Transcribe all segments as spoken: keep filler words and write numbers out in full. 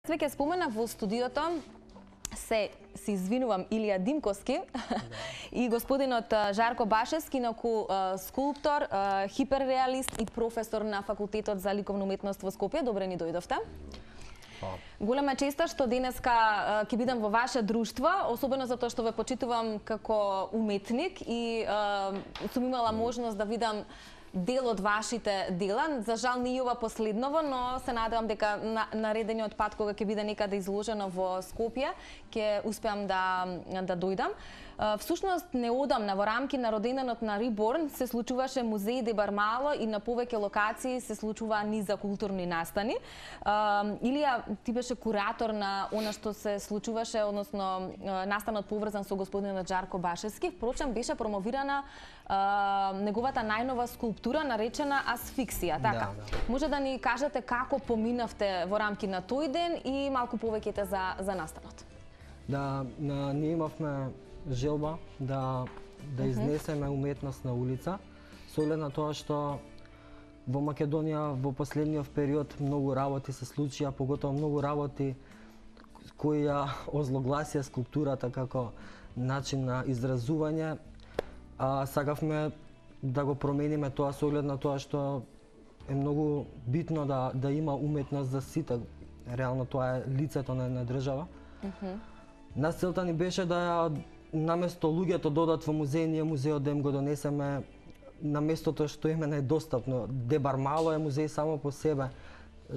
Веќе спомена во студиото се се извинувам Илија Димковски и господинот Жарко Башевски, инаку скулптор, хиперреалист и професор на Факултетот за ликовна уметност во Скопје. Добре ни дојдовте. Голема честа што денеска ќе бидам во ваше друштво, особено затоа што ве почитувам како уметник и сум имала можност да видам дел од вашите дела. За жал не и ова последново, но се надевам дека на, наредениот пат кога ќе биде некаде изложено во Скопје, ќе успеам да да дојдам. Всушност не одам на во рамки на роденденот на Риборн се случуваше музеј де Бармало и на повеќе локации се случува низа културни настани. Илија, ти беше куратор на она што се случуваше, односно настанот поврзан со господинот Жарко Башевски. Впрочем, беше промовирана неговата најнова скулптура наречена Асфиксија, така? Да, да. Може да ни кажете како поминавте во рамки на тој ден и малку повеќе за за настанот? Да, на, ние имавме желба да да изнесеме уметност на улица, со оглед на тоа што во Македонија во последниот период многу работи се случија, поготово многу работи кои ја озлогласија скулптурата како начин на изразување. А сакавме да го промениме тоа со оглед на тоа што е многу битно да да има уметност за сите. Реално тоа е лицето на една држава. Mm -hmm. Нас целта ни беше да ја наместо луѓето додат во музеј, ние музеот да им го донесеме на местото што им е најдостапно. Де Бармало е музеј само по себе,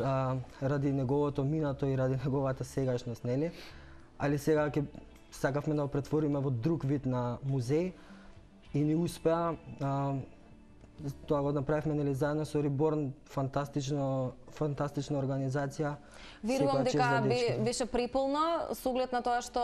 а, ради неговото минато и ради неговата сегашност, нели? Али сега ќе сакавме да го претвориме во друг вид на музеј и ни успеа. А, тоа го направивме, нели, заедно со Риборн, фантастично фантастична организација. Верувам дека беше преполно со оглед на тоа што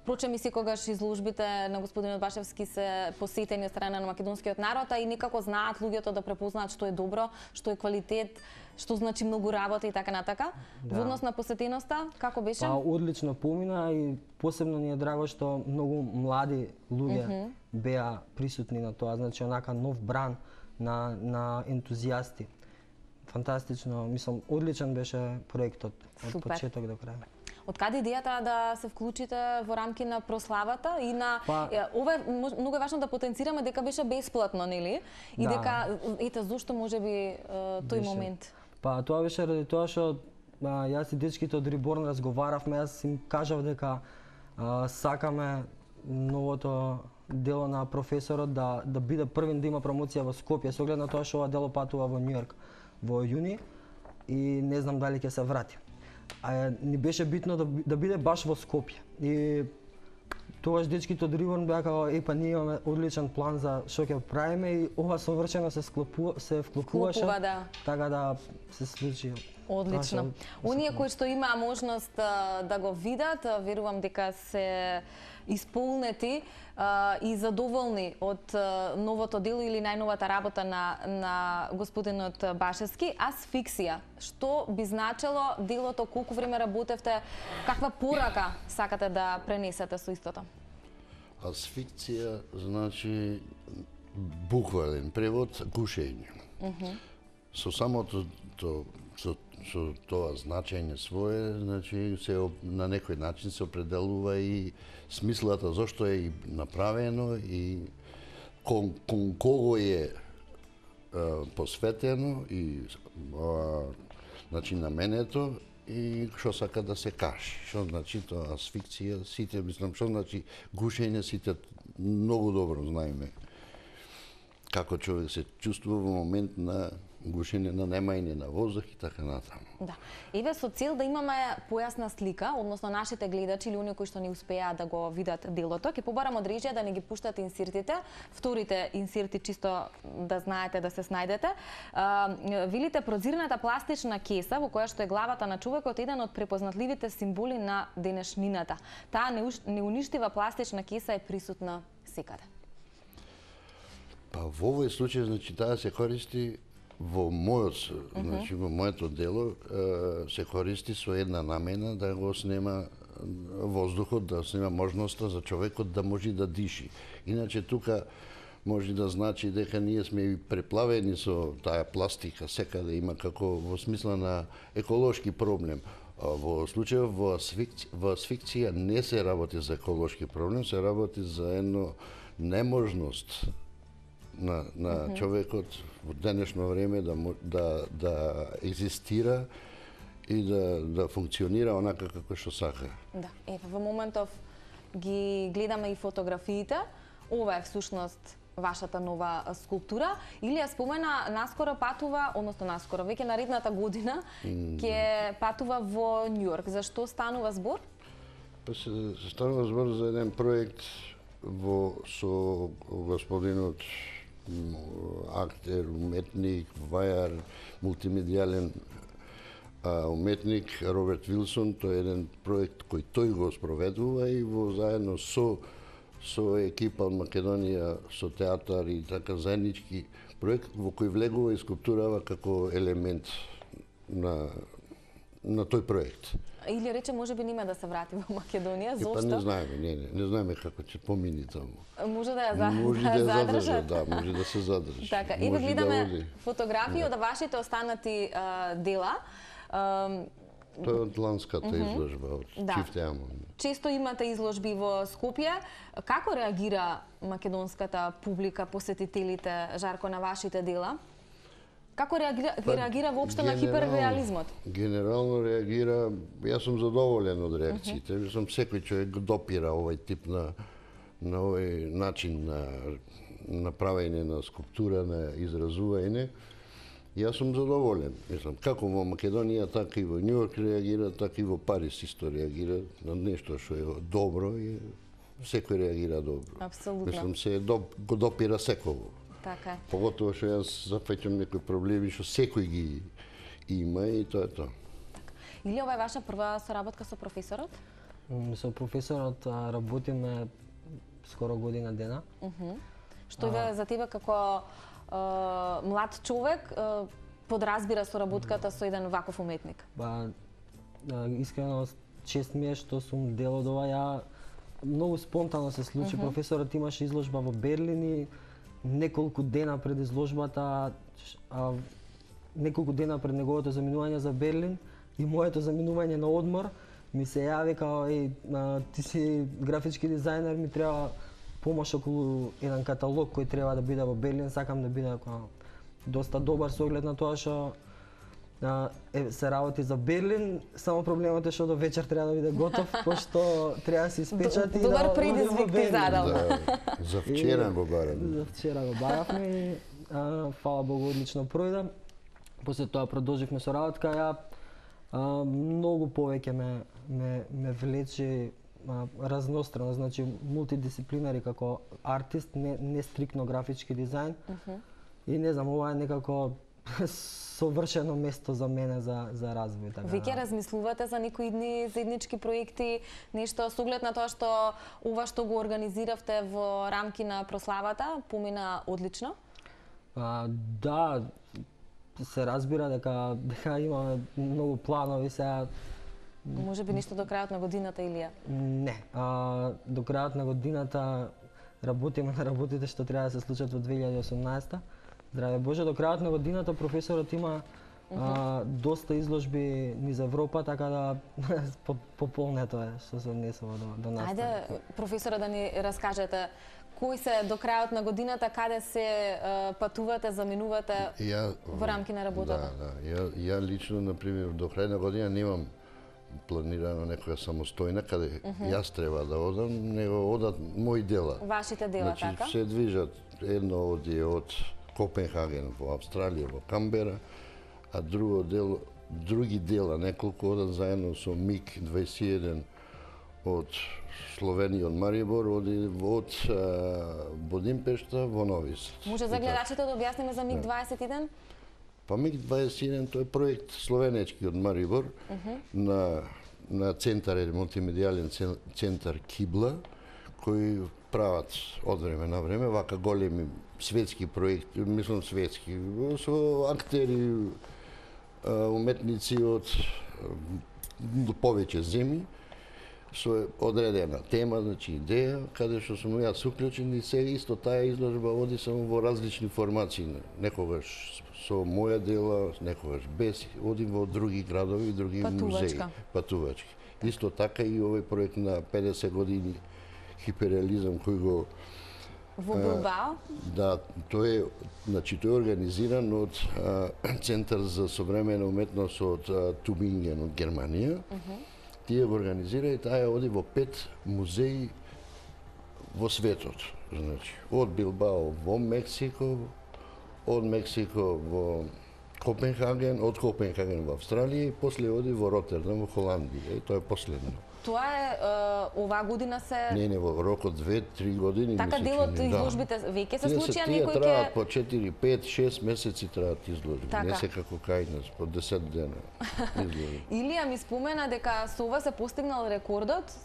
впрочем и секогаш изложбите на господинот Башевски се посетени од страна на македонскиот народ, а и некако знаат луѓето да препознаат што е добро, што е квалитет, што значи многу работа и така натака. Да. Во однос на посетеноста, како беше? Па, одлично помина и посебно ни е драго што многу млади луѓе mm -hmm. беа присутни на тоа, значи онака нов бран на на ентузијасти. Фантастично, мислам, одличен беше проектот од Супер. почеток до крај. Од каде идејата да се вклучите во рамки на прославата и на па, ова многу е важно да потенцираме дека беше бесплатно, нели? И да. Дека ете зошто можеби тој беше. Момент. Па тоа беше ради тоа што јас и дечките од Риборн разговаравме, јас им кажав дека а, сакаме новото дело на професорот да да биде првин да има промоција во Скопје, со оглед на тоа што ова дело патува во Њујорк во јуни и не знам дали ќе се врати. А ни беше битно да, да биде баш во Скопје. И тогаш дечките од Риборн беа како е па ние имаме одличен план за што ќе правиме и ова совршено се склопува, се вклопуваше. Вклопува, да. Така да се случи. Одлично. Оние кои што имаа можност да го видат, верувам дека се исполнети а, и задоволни од а, новото дело или најновата работа на на господинот Башевски, Асфиксија. Што би значело делото, колку време работевте, каква порака сакате да пренесете со истото? Асфиксија значи буквален превод гушење. Mm -hmm. Со самото то, со со тоа значење свое, значи се на некој начин се определува и смислата зошто е и направено и кон, кон кого е а, посветено и а, значи наменето и што сака да се каже. Што значи тоа асфиксија, сите мислам што значи гушење, сите многу добро знаеме како човек се чувствува во момент на гушење на немање на воздух и така натаму. Да. Еве со цел да имаме појасна слика, односно нашите гледачи или оние кои што не успеа да го видат делото, ќе побарам од режија да не ги пуштат инсертите, вторите инсерти чисто да знаете да се снајдете. Uh, видите прозирната пластична кеса во која што е главата на човекот, еден од препознатливите символи на денешнината. Таа неуништива пластична кеса е присутна секаде. Па во овој случај значи таа се користи во мојот, mm -hmm. значи во моето дело се користи со една намена да го снема воздухот, да снема можноста за човекот да може да диши. Иначе тука може да значи дека ние сме и преплавени со таа пластика, секаде има како во смисла на еколошки проблем. Во случајот во асфикција, во асфикција не се работи за еколошки проблем, се работи за едно неможност на, на mm -hmm. човекот во денешно време да, да, да екзистира и да, да функционира онака како што сака. Да, е, во моментов ги гледаме и фотографиите. Ова е всушност вашата нова скулптура. Илија спомена, наскоро патува, односно наскоро, веќе наредната година, ќе патува во Њујорк. Зашто станува збор? Па се, се станува збор за еден проект во со господинот актер, уметник, вајар, мултимедијален а, уметник Роберт Вилсон. Тој е еден проект кој тој го спроведува и во заедно со со екипа од Македонија, со театар и така заеднички проект во кој влегува и скулптурава како елемент на на тој проект. Или рече можеби нема да се врати во Македонија, зошто? Па не знаеме, не, не, не знаеме како ќе помини таму. Може да ја, за, може да ја задржат. Да, може да се задржи. Така, еве гледаме да фотографии од вашите останати а, дела. А, Тоа е од ланската mm -hmm. изложба, од да. Чифте Амон. Често имате изложби во Скопје. Како реагира македонската публика, посетителите, Жарко, на вашите дела? Како реагира, па, реагира воопшто на хиперреализмот? Генерално реагира, јас сум задоволен од реакциите. Mm -hmm. Сум секој човек го допира овој тип на на овој начин на на правење на скулптура, на изразување. Јас сум задоволен. Мислам, како во Македонија, така и во Њујорк реагира, така и во Париз исто реагира на нешто што е добро и секој реагира добро. Апсолутно. Мислам, се до, го допира секој. Така е. Поготово што јас зафаќам некои проблеми што секој ги има и тоа е тоа. Така. Или ова е ваша прва соработка со професорот? Со професорот работиме скоро година дена. Uh -huh. Што е за тебе како Uh, млад човек uh, подразбира соработката со еден ваков уметник? Ба, uh, искрено чест ми е што сум дел од ова. Ја многу спонтано се случи. Uh -huh. Професорот имаше изложба во Берлин и неколку дена пред изложбата, а, неколку дена пред неговото заминување за Берлин и моето заминување на одмор, ми се јави као еј, ти си графички дизајнер, ми треба помош околу еден каталог кој треба да биде во Берлин, сакам да биде доста добар со оглед на тоа што е, се работи за Берлин, само проблемот е што до вечер треба да биде готов, пошто треба да се испечати. Добар да, предизвик ти задал. Да, за вчера го барам. За вчера го баравме и а, фала Богу одлично пројде. После тоа продолживме со работка, ја а, многу повеќе ме ме ме влече разнострано, значи мултидисциплинари како артист, не, не стрикно графички дизајн. Uh -huh. И не знам, ова е некако совршено место за мене за за развој. Така. Веќе размислувате за некои идни заеднички проекти, нешто со оглед на тоа што ова што го организиравте во рамки на прославата помина одлично? А, да, се разбира дека дека имаме многу планови сега. Може би нешто до крајот на годината, Илија? Не. А, до крајот на годината работиме на работите што треба да се случат во две илјади и осумнаесета. Здраве Боже, до крајот на годината професорот има uh -huh. а, доста изложби низ Европа, така да пополнето е што се однесува до, до нас. Ајде, професора, да ни раскажете кои се до крајот на годината, каде се а, патувате, заминувате ја, во рамки на работата? Да, да. Ја, ја лично, например, до крај на година немам планирано некоја самостојна каде uh -huh. јас треба да одам, него одат мои дела. Вашите дела, значи, така? се движат, едно оди од Копенхаген во Австралија, во Камбера, а друго дел, други дела, неколку одат заедно со МиГ дваесет и еден од Словенија, од Марибор, оди од Будимпешта во Нови Сад. Може за гледачите да објасниме за МиГ дваесет и еден? Па МиГ дваесет и еден тој е проект словенечки од Марибор uh -huh. на на центар, мултимедијален центар Кибла, кои прават од време на време вака големи светски проекти, мислам светски, со актери, уметници од повеќе земји. со одредена тема, значи идеја, каде што сум јас уклучен и сега исто таа изложба оди само во различни формации. Некогаш со моја дела, некогаш без, одим во други градови, други музеи, патувачки. Исто така и овој проект на педесет години хиперреализам кој го во Билбао? Да, тој е, значи тој е организиран од а, Центар за современа уметност од а, Тубинген од Германија. Uh -huh. Тие го организира и таа оди во пет музеи во светот. Значи, од Билбао во Мексико, од Мексико во Копенхаген, од Копенхаген во Австралија и после оди во Ротердам во Холандија. И тоа е последно. Тоа е, е оваа година се... Не, не, во рок од две-три години. Така делот изложбите веќе се случија, некој ќе... Тие траат по четири, пет, шест месеци траат изложби. Така. Не се како кај нас, по десет дена изложби. Илија ми спомена дека со ова се постигнал рекордот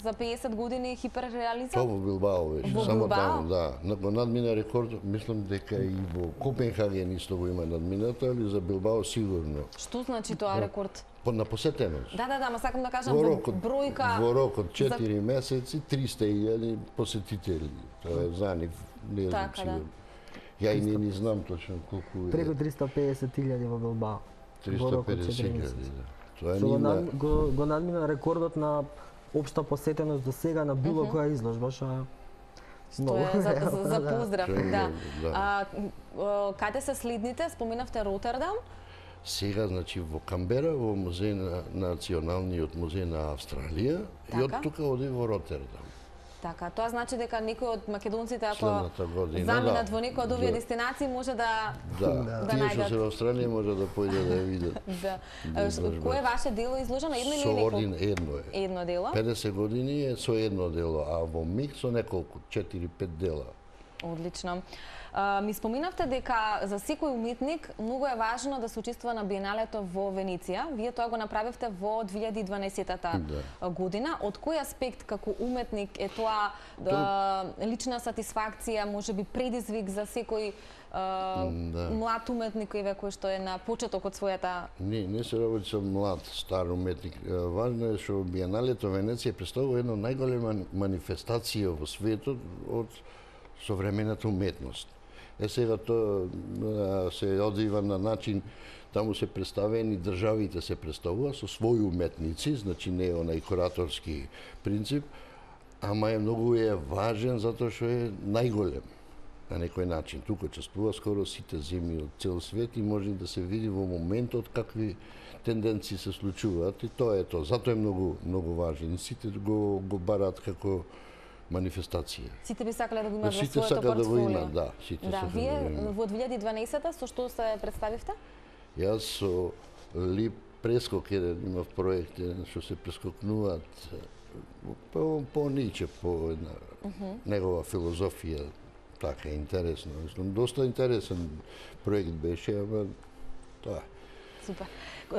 за педесет години хиперреализам? Тоа во Билбао беше, во само Билбао? таму, да. Го надмина рекордот, мислам дека и во Копенхаген исто го има надминато, али за Билбао сигурно. Што значи тоа рекорд? По на посетеност. Да, да, да, ма сакам да кажам Во во рок од, бројка... во рок од четири за... месеци, триста илјади посетители. Тоа е за нив, не знам така, сигурно. Да. Ја и не ни знам точно колку е. Преку триста педесет илјади во Билбао. триста педесет илјади, да. Тоа Со ни го, на... над, го, го надмина рекордот на општа посетеност до сега на било Мгм. која изложба, што е Што многу е за, за, за да. поздрав, Што е да. многу, да. А, а, каде се следните? Споменавте Ротердам? Сега, значи, во Камбера, во музеј на Националниот музеј на Австралија, и од Така? тука оди во Ротердам. Така, тоа значи дека некој од македонците ако Следната година, заминат да. во некој од овие Да. дестинации може да Да, да тие што најдат. се во Австралија може да појде да ја видат. Да. Да А, изложбата. Кое е ваше дело изложено? Едно или Со неколку? ордин едно е. Едно дело. педесет години е со едно дело, а во миг со неколку, четири-пет дела. Одлично. А, ми споминавте дека за секој уметник многу е важно да се учествува на Биеналето во Венеција. Вие тоа го направивте во две илјади и дванаесетта Да. година. Од кој аспект како уметник е тоа да, лична сатисфакција, можеби предизвик за секој а, Да. млад уметник кој кој што е на почеток од својата... Не, не се работи со млад, стар уметник. Е, Важно е што Биеналето Венеција представува една најголема манифестација во светот од современата уметност. Е сега тоа а, се одвива на начин, таму се представени државите се представува со своји уметници, значи не е онај кураторски принцип, ама е многу е важен затоа што е најголем на некој начин. Тука учествува скоро сите земји од цел свет и може да се види во моментот какви тенденции се случуваат и тоа е тоа. Затоа е многу многу важен. И сите го го бараат како манифестација. Сите би сакале да го имат во Сите своето сакаат да го портфолио. имат, да, сите Да, сакаат вие да го имат. во две илјади и дванаесетта со што се представивте? Јас со Лип прескок еден имав проект еден што се прескокнуваат по по Ниче, по една uh -huh. негова филозофија, така интересно. Мислам доста интересен проект беше, ама тоа е. Супер.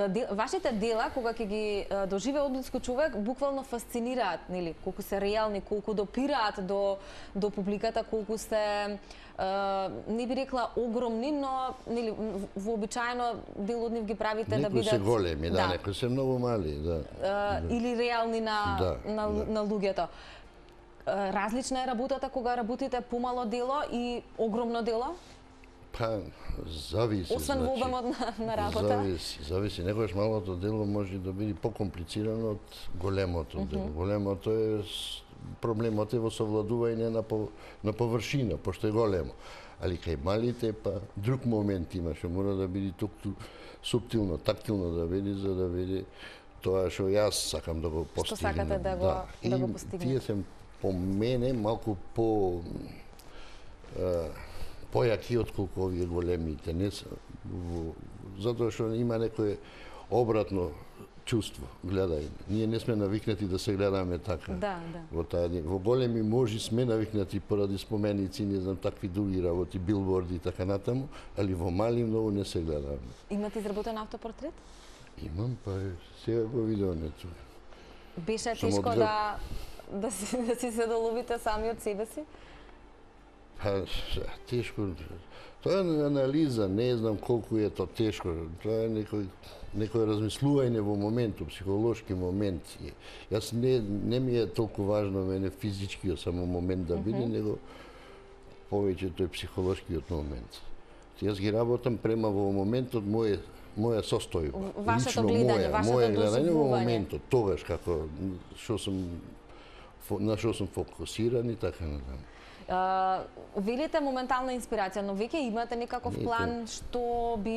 Дел, вашите дела, кога ќе ги е, доживее одблиску човек, буквално фасцинираат, нели, колку се реални, колку допираат до до публиката, колку се е, не би рекла огромни, но нели вообичаено дел од нив ги правите да Некои бидат се големи, да, да. некои се многу мали, да. Е, или реални на Да, на, да. на луѓето. Е, Различна е работата кога работите помало дело и огромно дело? Па, зависи, Освен значи. во обемот на, на работа? Зависи, зависи. Некојаш малото дело може да биде покомплицирано од големото mm -hmm. дело. Големото е с- проблемот е во совладување на по, на површина, пошто е големо. Али кај малите па друг момент има што мора да биде тук суптилно, тактилно да биде за да биде тоа што јас сакам да го постигнам. сакате да го- да го И постигнете? Тие се по мене малку по е, појаки отколку овие големите. Не се, во, затоа што има некое обратно чувство. Гледај, ние не сме навикнати да се гледаме така. Да, да. Во таа во големи можи сме навикнати поради споменици, не знам такви други работи, билборди и така натаму, али во мали многу не се гледаме. Имате изработен автопортрет? Имам, па е, сега го видоме тука. Беше Сум тешко одглед- да да си да си се доловите сами од себе си? Па, тешко. Тоа е анализа, не знам колку е тоа тешко. Тоа е некој некој размислување во моментот, психолошки момент. Јас не не ми е толку важно мене физичкиот само момент да биде, mm -hmm. него повеќе тој психолошкиот момент. Јас ги работам према во моментот мој моја состојба. Вашето гледање, вашето моје гледање во доживување. моментот, тогаш како што сум на што сум фокусиран и така натаму. Uh, велите моментална инспирација, но веќе имате некаков Не, план што би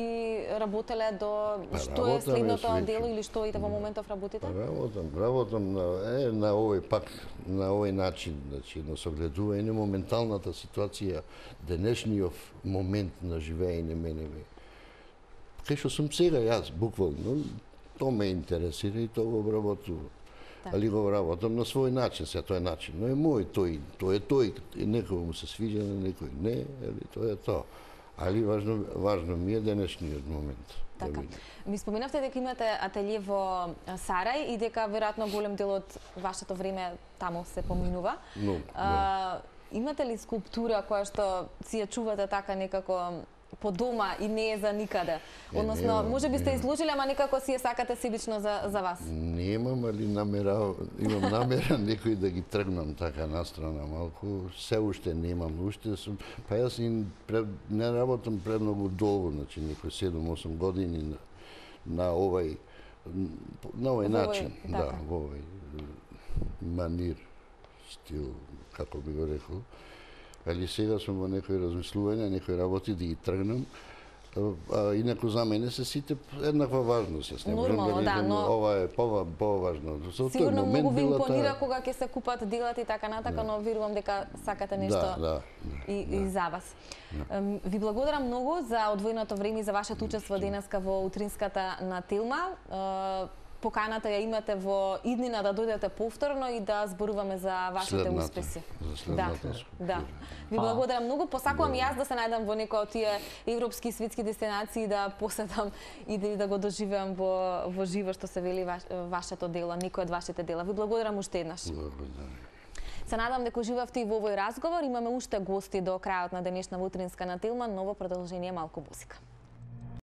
работеле до Па, што е работаме следното свеќе. дело или што и во моментов работите? Работам, работам на е на овој пак на овој начин, значи на согледување моменталната ситуација, денешниот момент на живење мене ме. Кај што сум сега јас буквално, тоа ме интересира и тоа го обработувам. Али го работам на свој начин, се тоа е начин, но е мој тој, тој е тој, и некој му се свиѓа, на некој не, али тоа е тоа. Али важно, важно ми е денешниот момент. Така. Да Ми споменавте дека имате ателје во Сарај и дека веројатно голем дел од вашето време таму се поминува. Но, а, имате ли скулптура која што си ја чувате така некако по дома и не е за никаде? Е, Односно, немам, може би сте немам. изложили, ама некако си ја сакате себично за, за вас. Немам, али намера, имам намера некој да ги тргнам така настрана малку. Се уште немам, уште сум, па јас и пред, не работам премногу долго, значи некои седум-осум години на, на овај на овај начин, така. да, во овај манир, стил, како би го рекол. Али сега сум во некои размислувања, некои работи да ги тргнам. А, инаку за мене се сите еднаква важност. Јас не можам Нормално, да да, речем но- ова е пова поважно. Со тој Сигурно момент многу ви била импонира таа- кога ќе се купат делата и така натака, но верувам дека сакате нешто Да, да. и, и за вас. Ем, Ви благодарам многу за одвоеното време и за вашето учество денеска во утринската на Телма. Е, Поканата ја имате во иднина да дојдете повторно и да зборуваме за вашите Следната, успеси. за Да, следната скулптура. да. Ви благодарам многу. Посакувам и јас да се најдам во некој од тие европски и светски дестинации, да посетам и да, да го доживеам во, во живо, што се вели ваш, вашето дело, некој од вашите дела. Ви благодарам уште еднаш. Благодарам. Се надам дека уживавте и во овој разговор. Имаме уште гости до крајот на денешна утринска на Телма, ново продолжение малку музика.